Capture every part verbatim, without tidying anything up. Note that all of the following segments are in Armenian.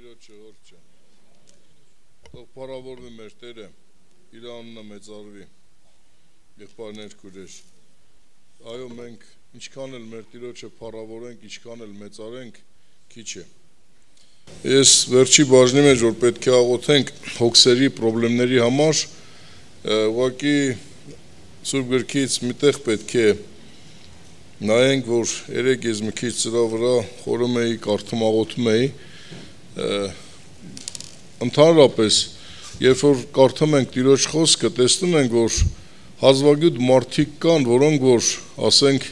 Տիրոջ շնորհիվ թող փառավորվի մեր Տերը, իր անունը մեծարվի, եղբայրներ քույրեր, այո մենք ինչքան էլ մեր Տիրոջը փառավորենք, ինչքան էլ մեծարենք, քիչ է։ Ես վերջի բաժնի մեջ որ պետք է աղոթենք հոգսերի խնդիրների համար, ուղղակի Սուրբ Գրքից միտեղ պետք է նայենք, որ երեք ես մի քիչ ծրա վրա խորում էի, կարդում աղոթում էի, ընդհանրապես, երբ որ կարդում ենք Տիրոջ խոսքը, տեսնում ենք, որ հազվագյուտ մարդիկ կան, որոնք որ, ասենք,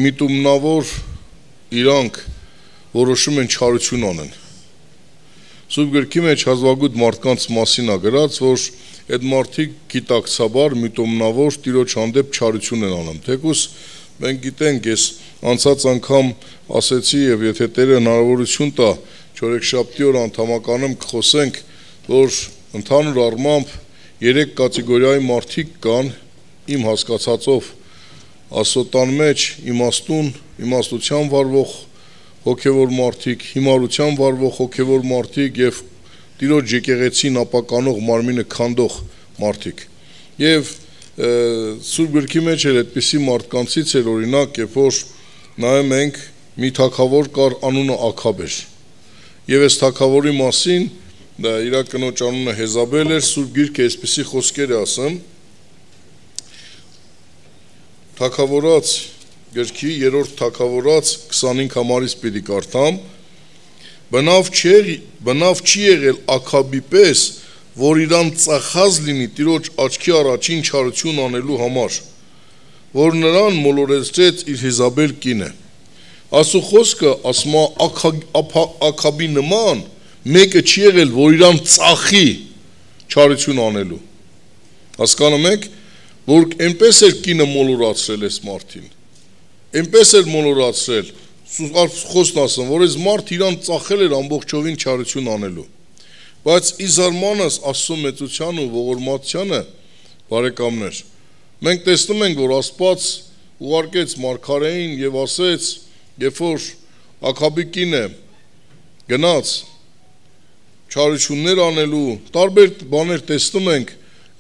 միտումնավոր իրանք որոշում են չարություն անեն։ Սուրբ Գրքի մեջ հազվագյուտ մարդկանց մասին է գրած, որ այդ մարդիկ գիտակցաբար, միտումնավոր Տիրոջ հանդեպ չարություն են անում։ Թեկուզ մենք գիտենք, ես անցած անգամ ասեցի եւ եթե Տերը հնարավորություն տա, չորեքշաբթի օր անդամականում կխոսենք, որ ընդհանուր առմամբ երեք կատեգորիայի մարդիկ կան, իմ հասկացածով Աստծոտան մեջ իմաստուն, իմաստության վարվող հոգևոր մարդիկ, հիմարության վարվող հոգևոր մարդիկ եւ Տիրոջ եկեղեցին ապականող մարմինը քանդող մարդիկ։ Եվ Սուրբ Գրքի մեջ էլ այդպիսի մարդկանցից էր օրինակ, երբ որ նայում ենք մի թագավոր կար անունը Աքաբ էր։ Եվ այս թագավորի մասին, դա իր կնոջ անունը Հեզաբել էր, Սուրբ Գիրքը այսպիսի խոսքեր է ասում, Թագավորաց գրքի երրորդ Թագավորաց քսանհինգ համարից պիտի կարդամ, բնավ չի, բնավ չի եղել Աքաբի պես, որ իրան ծախած լինի Տիրոջ աչքի առաջին չարություն անելու համար, որ նրան մոլորեցրեց իր Հեզաբել կինը։ Աստծո խոսքը ասում է Աքաբի նման մեկը չի եղել, որ իրան ծախի չարություն անելու։ Հասկանում եք, որ այնպես էր կինը մոլորացրել այս մարդին։ Այնպես էր մոլորացրել, խոսքն ասում, որ այս մարդ իրան ծախել էր ամբողջովին չարություն անելու։ Բայց ի զարմանս Աստծո մեծության ու ողորմածությանը, բարեկամներ, մենք տեսնում ենք, որ Աստված ուղարկեց մարգարեին եւ ասեց, երբ որ Աքաբի կինը գնաց չարություններ անելու, տարբեր բաներ տեսնում ենք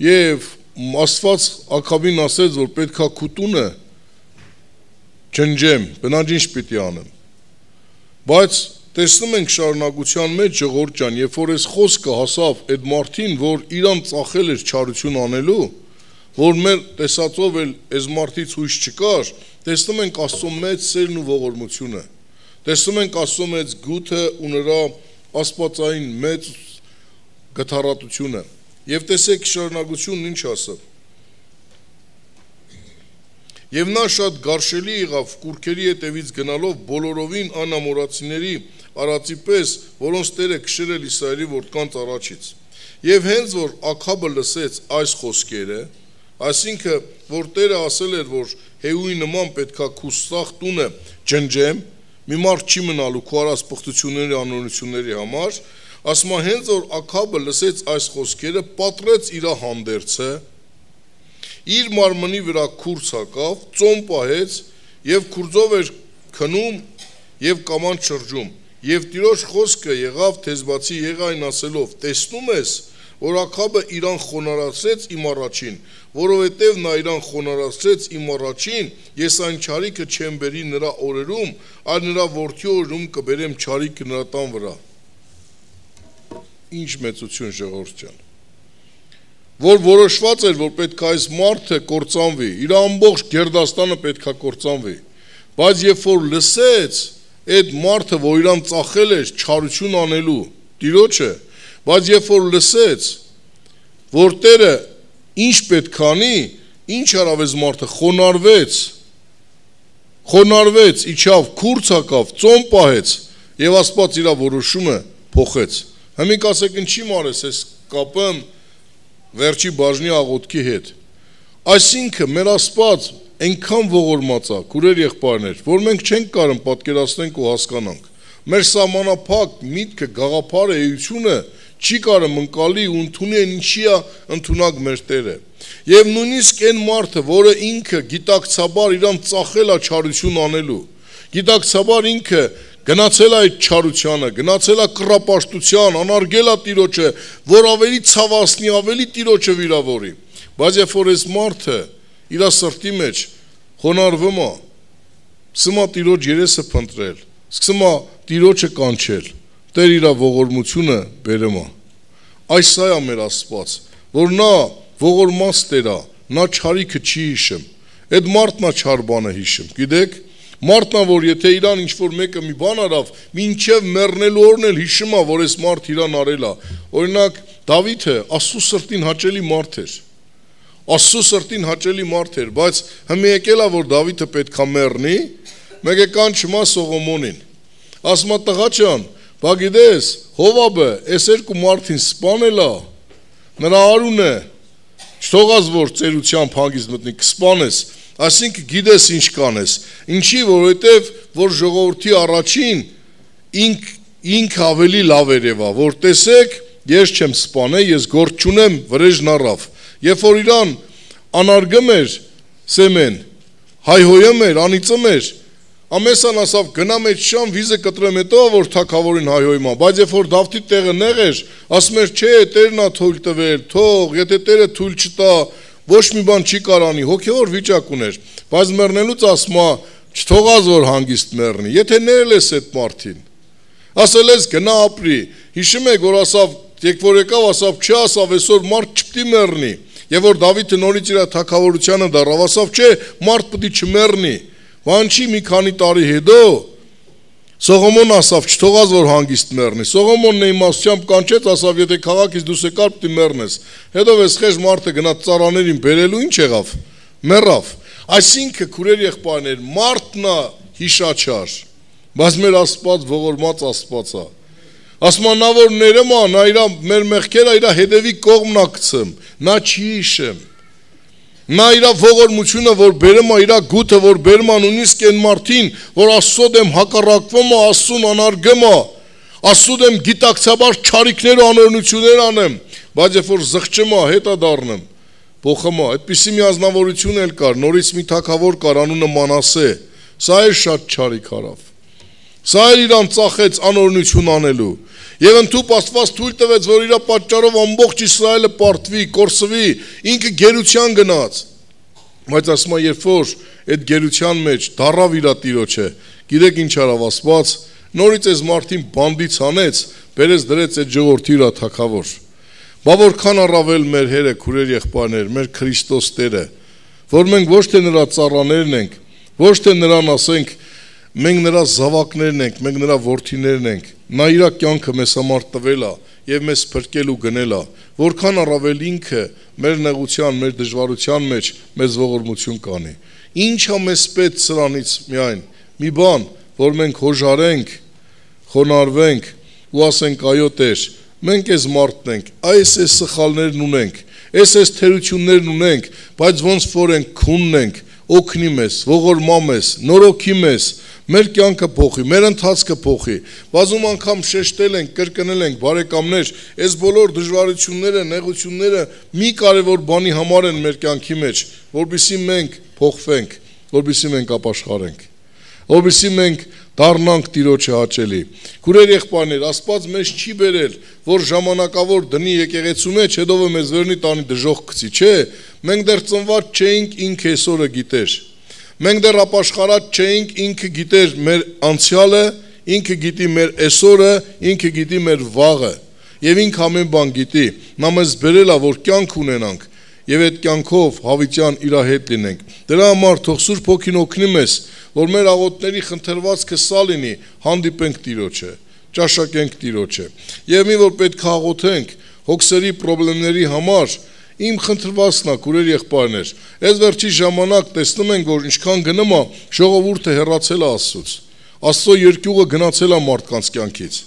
եւ Աստված Աքաբին ասեց, որ պետքա քուտունը ջնջեմ, բնավ ինչ պիտի անեմ։ Բայց տեսնում ենք շարունակության մեջ ժողովուրդ ջան, երբ որ այս խոսքը հասավ այդ մարդին, որ իրան ծախել էր չարություն անելու, որ մեր տեսածով էլ այս մարդից հույս չկար, տեսնում ենք Աստծո մեծ սերն ու ողորմությունը, տեսնում ենք Աստծո մեծ գութը ու նրա աստվածային մեծ գթառատությունը։ Եվ տեսեք շարունակությունն ինչ ասավ։ Եվ նա շատ գարշելի եղավ կուրքերի հետևից գնալով բոլորովին անամորացիների արածի պես, որոնց Տերը քշել Իսրայելի որդկանց առաջից։ Եվ հենց որ Աքաբը լսեց այս խոսքերը, այսինքն որ Տերը ասել էր, որ Հեյուի նման պետքա քու սաղ տունը ջնջեմ, մի մարդ չի մնալու քու արած պղտությունների անօրենությունների համար, ասում է հենց որ Աքաբը լսեց այս խոսքերը, պատռեց իր հանդերձը, իր մարմնի վրա քուրձ հակավ, ծոմ պահեց եւ քուրձով էր քնում եւ կամանց շրջում։ Եվ Տիրոջ խոսքը եղավ Թեզբացի Եղային ասելով. տեսնում ես, որ Աքաբը իրան խոնարհացրեց իմ առաջին, որովհետև նա իրան խոնարհացրեց իմ առաջին, ես այն չարիքը չեմ բերի նրա օրերում, այլ նրա որդի օրերում կբերեմ չարիքը նրա տան վրա։ Ինչ մեծություն ժողովուրդ ջան։ Որ որոշված էր, որ պետք է այս մարդը կործանվի, իր ամբողջ գերդաստանը պետք է կործանվի, բայց երբ որ լսեց այդ մարդը, որ իրան ծախել էր չարություն անելու Տիրոջը, բայց երբ որ լսեց, որ Տերը ինչ պետք է անի, ինչ արավ այս մարդը, խոնարհվեց, խոնարհվեց, իջավ, քուրձ հակավ, ծոմ պահեց եւ Աստված իր որոշումը փոխեց։ Հիմա ասեք ինչի մարես այս կապը վերջի բաժնի աղոթքի հետ։ Այսինքն մեր Աստված այնքան ողորմած է, քուրեր եղբայրներ, որ մենք չենք կարող պատկերացնենք ու հասկանանք։ Մեր սահմանափակ միտքը, գաղափարը, էությունը չի կարող ընկալի ու ընդունի ինչի է ընդունակ մեր Տերը։ Եվ նույնիսկ այն մարդը, որը ինքը գիտակցաբար իրան ծախել է չարություն անելու, գիտակցաբար ինքը գնացել է այդ չարությանը, գնացել է կռապաշտության, անարգել է Տիրոջը, որ ավելի ցավացնի, ավելի Տիրոջը վիրավորի։ Բայց երբ որ այս մարդը իր սրտի մեջ խոնարհվում է, սկսում է Տիրոջ երեսը փնտրել, սկսում է Տիրոջը կանչել, Տեր իր ողորմությունը բերում է։ Այս սա է մեր Աստված, որ նա ողորմած Տեր է, նա չարիքը չի հիշում։ Այդ մարդն է չար բանը հիշում, գիտեք, մարդն է, որ եթե իրան ինչ-որ մեկը մի բան արավ, մինչև մեռնելու օրն էլ հիշում է, որ այս մարդ իրան արել է։ Օրինակ, Դավիթը Աստծո սրտին հաճելի մարդ էր։ Աստծո սրտին հաճելի մարդ էր, բայց հիմա եկել է, որ Դավիթը պետք է մեռնի, մեկ է կանչում է Սողոմոնին։ Ասում է տղա ջան, բա գիտես, Հովաբը այս երկու մարդին սպանել է, նրա արունը չթողած որ ծերությամբ հանգիստ մտնի, կսպանես, այսինքն գիտես ինչ կանես, ինչի, որովհետև որ ժողովրդի առաջին ինք, ինք ավելի լավ երևա, որ տեսեք, ես չեմ սպանել, ես գործ չունեմ, վրեժն առավ, երբ որ իրան անարգում էր սեմեն, հայհոյում էր, անիծում էր, ամեսան ասավ գնամ այդ շան վիզը կտրեմ հետո որ թագավորին հայհոյմա, բայց երբ որ Դավթի տեղը նեղ էր, ասում էր չէ, Տերն է թույլ տվել, թող, եթե Տերը թույլ չտա, ոչ մի բան չի կարանի, հոգևոր վիճակ ուներ, բայց մեռնելուց ասում է, չթողած որ հանգիստ մեռնի, եթե ներել ես այդ մարդին, ասել ես գնա ապրի, հիշում եք որ ասավ, երբ որ եկավ ասավ, չէ ասավ, այսօր մարդ չպետք է մեռնի, եւ որ Դավիթը նորից իր թագավորությանը դառավ, ասավ, չէ, մարդ պետք է չմեռնի, Վանչի մի քանի տարի հետո Սողոմոն ասավ, չթողած որ հանգիստ մեռնի, Սողոմոնն է իմաստությամբ կանչեց, ասավ, եթե քաղաքից դուրս եկար, պետք է մեռնես, հետո էս խեժ մարդը գնաց ծառաներին բերելու, ինչ եղավ, մեռավ, այսինքն քուրեր եղբայրներ, մարդն է հիշաչար, բայց մեր Աստված ողորմած Աստված է, ասում նա որ ներում է, նա իր մեր մեղքերը իր հետևի կողմն է գցում, նա չի հիշում, նա իր ողորմությունը որ բերում է, իր գութը որ բերում է նույնիսկ այն մարդին, որ Աստծո դեմ հակառակվում է, Աստծուն անարգում է, Աստծո դեմ գիտակցաբար չարիքներ ու անօրենություններ անեմ, բայց երբ որ զղջում է, հետա դառնում, փոխում է, այդպիսի մի ազնվորություն էլ կար, նորից մի թագավոր կար, անունը Մանասե, սա էլ շատ չարիք արավ, սա էլ իրան ծախեց անօրենություն անելու, Եվ ընդհուպ Աստված թույլ տվեց, որ իր պատճառով ամբողջ Իսրայելը պարտվի, կորսվի, ինքը գերության գնաց։ Բայց ասում է, երբ որ այդ գերության մեջ դառավ իր Տիրոջը, գիտեք ինչ արավ Աստված, նորից այս մարդին բանդից հանեց, բերեց դրեց այդ ժողովրդի իր թագավոր։ Բա որքան առավել մեր Հերը, քուրեր եղբայրներ, մեր Քրիստոս Տերը, որ մենք ոչ թե նրա ծառաներն ենք, ոչ թե նրան ասենք, մենք նրա զավակներն ենք, մենք նրա որդիներն ենք, նա իր կյանքը մեզ համար տվել է եւ մեզ փրկել ու գնել է, որքան առավել ինքը մեր նեղության, մեր դժվարության մեջ մեզ ողորմություն կանի։ Ինչ է մեզ պետք սրանից միայն մի բան, որ մենք հոժարենք, խոնարհվենք ու ասենք այո Տեր, մենք այս մարդն ենք, այս այս սխալներն ունենք, այս այս թերություններն ունենք, բայց ոնց որ ենք քունն ենք, օգնի մեզ, ողորմա մեզ, նորոգի մեզ, մեր կյանքը փոխի, մեր ընթացքը փոխի, բազում անգամ շեշտել ենք, կրկնել ենք, բարեկամներ, այս բոլոր դժվարությունները, նեղությունները մի կարևոր բանի համար են մեր կյանքի մեջ, որպեսզի մենք փոխվենք, որպեսզի մենք ապաշխարենք, որպեսզի մենք դառնանք Տիրոջը հաճելի։ Քուրեր եղբայրներ, Աստված մեզ չի բերել, որ ժամանակավոր դնի եկեղեցու մեջ, հետո մեզ վերնի տանի դժոխք գցի, չէ, մենք դեռ ծնված չէինք, ինքը այսօրը գիտեր։ Մենք դեռ ապաշխարած չէինք, ինքը գիտեր մեր անցյալը, ինքը գիտի մեր այսօրը, ինքը գիտի մեր վաղը, եւ ինքը ամեն բան գիտի։ Նա մեզ բերել է, որ կյանք ունենանք, եւ այդ կյանքով հավիտյան իր հետ լինենք։ Դրա համար թող Սուրբ Հոգին օգնի մեզ, որ մեր աղոթների խնդրվածքը սա լինի, հանդիպենք Տիրոջը, ճաշակենք Տիրոջը։ Եվ մի որ պետք է աղոթենք հոգսերի խնդիրների համար, իմ խնդրվածքն է, քուրեր եղբայրներ, այս վերջի ժամանակ տեսնում ենք, որ ինչքան գնում է, ժողովուրդը հեռացել է Աստծուց, Աստծո երկյուղը գնացել է մարդկանց կյանքից։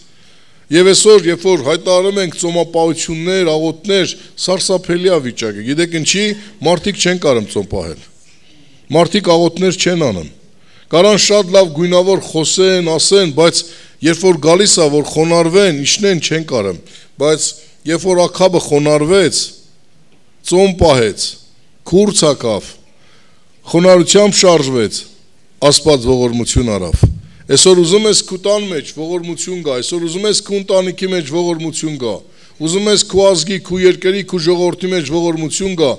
Եվ այսօր, երբ որ հայտարարում ենք ծոմապահություններ, աղոթներ, սարսափելի է վիճակը։ Գիտեք ինչի, մարդիկ չեն կարող ծոմ պահել։ Մարդիկ աղոթներ չեն անում։ Կարան շատ լավ գույնավոր խոսեն, ասեն, բայց երբ որ գալիս է, որ խոնարհվեն, իջնեն չեն կարող։ Բայց երբ որ ակաբը խոնարհվեց, ծոմ պահեց, քուրց ակավ, խոնարհությամբ շարժվեց, Աստված ողորմություն արավ։ Այսօր ուզում ես քո տան մեջ ողորմություն գա, այսօր ուզում ես քո ընտանիքի մեջ ողորմություն գա, ուզում ես քո ազգի, քո երկրի, քո ժողովրդի մեջ ողորմություն գա,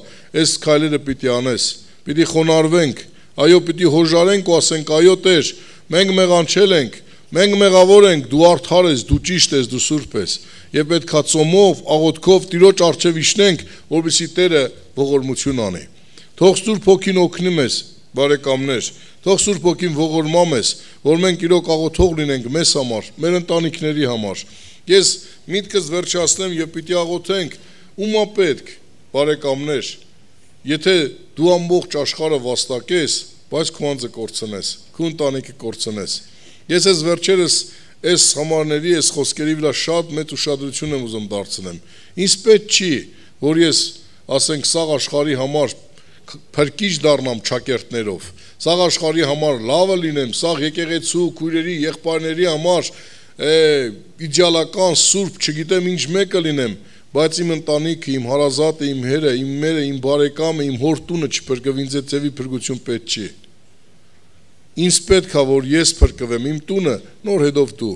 այս քայլերը պիտի անես, պիտի խոնարհվենք, այո, պիտի հոժարենք ու ասենք, այո Տեր, մենք մեղանչել ենք, մենք մեղավոր ենք, դու արդար ես, դու ճիշտ ես, դու սուրբ ես, եւ պետքա ծոմով, աղոթքով Տիրոջ առջև իջնենք, որպեսզի Տերը ողորմություն անի։ Թող Սուրբ Հոգին օգնի մեզ, բարեկամներ, թող Սուրբ Հոգին ողորմա մեզ, որ մենք իրոք աղոթող լինենք մեզ համար, մեր ընտանիքների համար։ Ես միտքս վերջացնեմ եւ պիտի աղոթենք, ումա պետք, բարեկամներ, եթե դու ամբողջ աշխարհը վաստակես, բայց քո անձը կորցնես, քո ընտանիքը կորցնես։ Ես ես վերջերս այս համարների, այս խոսքերի վրա շատ մեծ ուշադրություն եմ ուզում դարձնեմ։ Ինձ պետք չի, որ ես, ասենք, սաղ աշխարհի համար փրկիչ դառնամ ճակերտներով, սաղ աշխարհի համար լավը լինեմ, սաղ եկեղեցու, քույրերի, եղբայրների համար իդեալական, սուրբ, չգիտեմ ինչ մեկը լինեմ, բայց իմ ընտանիքը, իմ հարազատը, իմ հերը, իմ մերը, իմ բարեկամը, իմ հոր տունը չփրկվի, ինձ այդ ձևի փրկություն պետք չի։ Ինձ պետք է, որ ես փրկվեմ, իմ տունը, նոր հետով դու։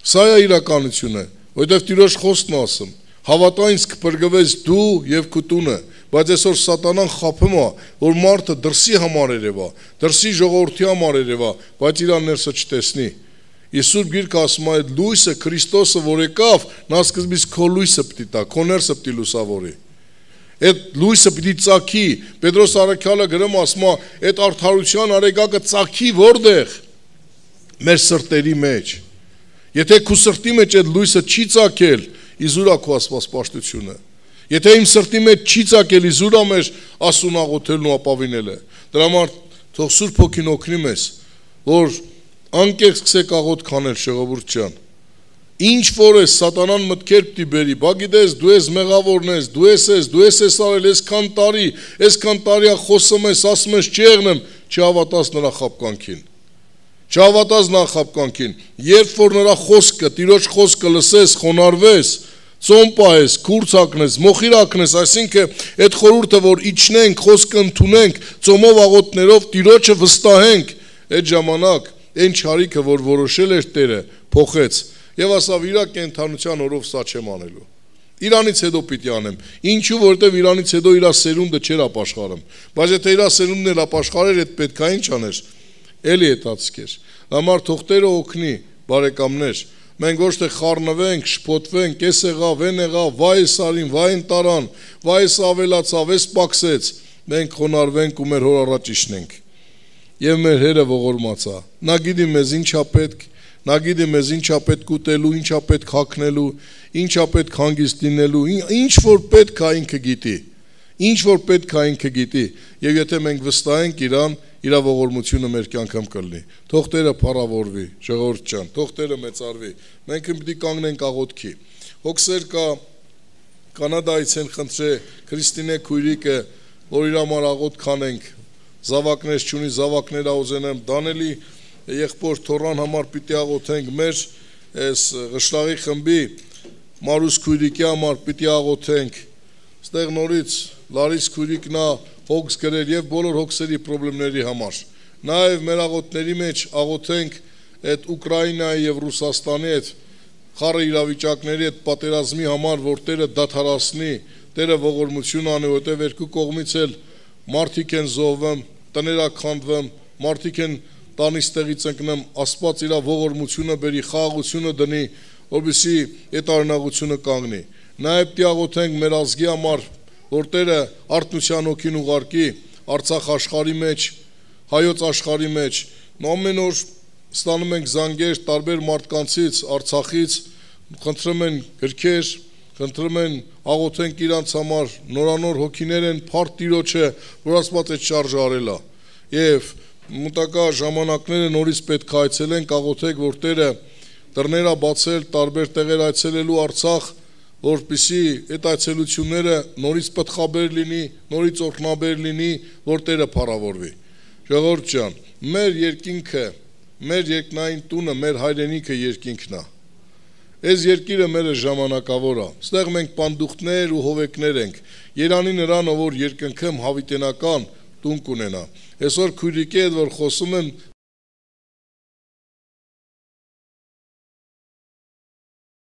Սա է իրականությունը, որովհետև Տիրոջ խոսքն ասում, հավատա ինձ կփրկվես դու եւ քո տունը, բայց այսօր սատանան խափում է, որ մարդը դրսի համար երևա, դրսի ժողովրդի համար երևա, բայց իր ներսը չտեսնի։ Սուրբ Գիրքը ասում է, այդ լույսը Քրիստոսը, որ եկավ, նա սկզբից քո լույսը պիտի տա, քո ներսը պիտի լուսավորի։ Այդ լույսը պիտի ծագի, Պետրոս առաքյալը գրում ասում է, այդ արդարության արեգակը ծագի որտեղ։ Մեր սրտերի մեջ։ Եթե քո սրտի մեջ այդ լույսը չի ծագել, իզուր է քո աստվածպաշտությունը։ Եթե իմ սրտի մեջ չի ծագել, իզուր է մեր ասուն աղոթելն ու ապավինելը։ Դրա համար թող Սուրբ Հոգին օգնի մեզ, որ անկեղծ սկսեք աղոթք անել, ժողովուրդ ջան։ Ինչ որ է սատանան մտքեր պիտի բերի, բա գիտես, դու ես մեղավորն ես, դու ես ես, դու ես ես արել, այսքան տարի, այսքան տարի խոսում ես, ասում ես չեղնեմ, չհավատաս նրա խաբկանքին։ Չհավատաս նրա խաբկանքին։ Երբ որ նրա խոսքը, Տիրոջ խոսքը լսես, խոնարհվես, ծոմ պահես, քուրձ հագնես, մոխիր հագնես, այսինքն այդ խորհուրդը, որ իջնենք, խոսքը ընդունենք, ծոմով աղոթներով Տիրոջը վստահենք, այդ ժամանակ այն չարիքը, որ որոշել էր Տերը, փոխեց եւ ասավ իրա կենթանության օրով սա չեմ անելու։ Իրանից հետո պիտի անեմ։ Ինչու, որովհետեւ իրանից հետո իրա սերունդը չէր ապաշխարում։ Բայց եթե իրա սերունդն էլ ապաշխարեր, այդ պետքա ինչ աներ։ Էլի հետացկեր։ Համար թող Տերը օգնի, բարեկամներ։ Մենք ոչ թե խառնվենք, շփոթվենք, էս եղավ, այն եղավ, վայ սարին, վայ ընտարան, վայ ավելացավ, էս պակսեց։ Մենք խոնարհվենք ու մեր հոր առաջ իջնենք։ Եվ մեր Հերը ողորմացա։ Նա գիտի մեզ ինչա պետք, նա գիտի մեզ ինչա պետք ուտելու, ինչա պետք հագնելու, ինչա պետք հանգիստ լինելու, ինչ որ պետք է ինքը գիտի։ Ինչ որ պետք է ինքը գիտի։ Եվ եթե մենք վստահենք իրան, իր ողորմությունը մեր կյանքում կլինի։ Թող Տերը փառավորվի, ժողովուրդ ջան, թող Տերը մեծարվի։ Մենք պիտի կանգնենք աղոթքի։ Հոգսեր կա Կանադայից են խնդրե Քրիստինե քույրիկը, որ իր համար աղոթք անենք։ Զավակներ չունի, զավակներ ուզենեմ, Դանելի եղբոր Թորան համար պիտի աղոթենք, մեր այս Ղշտաղի խմբի Մարուս քույրիկի համար պիտի աղոթենք, ստեղ նորից Լարիս քույրիկն է հոգս գրել եւ բոլոր հոգսերի խնդիրների համար։ Նաեւ մեր աղոթների մեջ աղոթենք այդ Ուկրաինայի եւ Ռուսաստանի այդ խառը իրավիճակների այդ պատերազմի համար, որ Տերը դադարեցնի, Տերը ողորմություն անի, որտեղ երկու կողմից էլ մարդիկ են զոհվում, տները քանդվում, մարդիկ են տանից տեղից ընկնում, Աստված իր ողորմությունը բերի, խաղաղությունը դնի, որպեսզի այդ արնաղությունը կանգնի։ Նաև պիտի աղոթենք մեր ազգի համար, որ Տերը արթնության հոգին ուղարկի Արցախ աշխարհի մեջ, հայոց աշխարհի մեջ։ Ամեն օր ստանում ենք զանգեր տարբեր մարդկանցից, Արցախից, խնդրում են գրքեր, խնդրում են աղոթենք իրանց համար, նորանոր հոգիներ են, փառք Տիրոջը, որ Աստված այդ շարժը արել է։ Եվ մտակա ժամանակները նորից պետք է այցելենք, աղոթենք, որ Տերը դռները բացել, տարբեր տեղեր այցելելու Արցախ, որպեսզի այդ այցելությունները նորից պտղաբեր լինի, նորից օրհնաբեր լինի, որ Տերը փառավորվի։ Ժողովուրդ ջան, մեր երկինքը, մեր երկնային տունը, մեր հայրենիքը երկինքն է։ Այս երկիրը մեր ժամանակավոր է։ Ստեղ մենք պանդուխտներ ու հովեկներ ենք։ Երանի նրան, որ երկնքում հավիտենական տուն կունենա։ Այսօր քույրիկի հետ որ խոսում եմ,